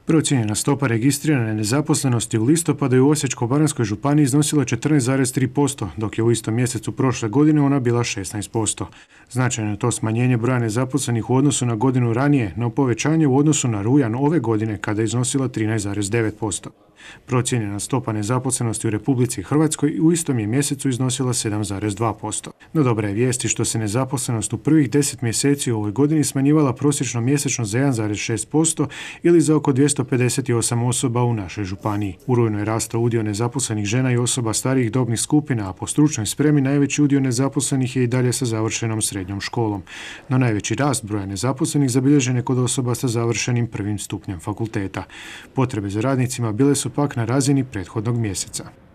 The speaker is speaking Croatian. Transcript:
Procijenjena stopa registrirane nezaposlenosti u listopadu je u Osječko-baranjskoj županiji iznosila 14,3%, dok je u istom mjesecu prošle godine ona bila 16%. Značajno je to smanjenje broja nezaposlenih u odnosu na godinu ranije, no povećanje u odnosu na rujan ove godine kada je iznosila 13,9%. Procijenjena stopa nezaposlenosti u Republici Hrvatskoj u istom je mjesecu iznosila 7,2%. No dobra je vijesti što se nezaposlenost u prvih 10 mjeseci u ovoj godini smanjivala prosječno mjesečno za 1,6% ili za oko 258 osoba u našoj županiji. U rujnu je rastao udio nezaposlenih žena i osoba starijih dobnih skupina, a po stručnoj spremi najveći udio nezaposlenih je i dalje sa završenom srednjom školom. No najveći rast broja nezaposlenih zabilježen je kod osoba sa završenim prvim stupnjem fakulteta. Potrebe za radnicima bile su pak na razini prethodnog mjeseca.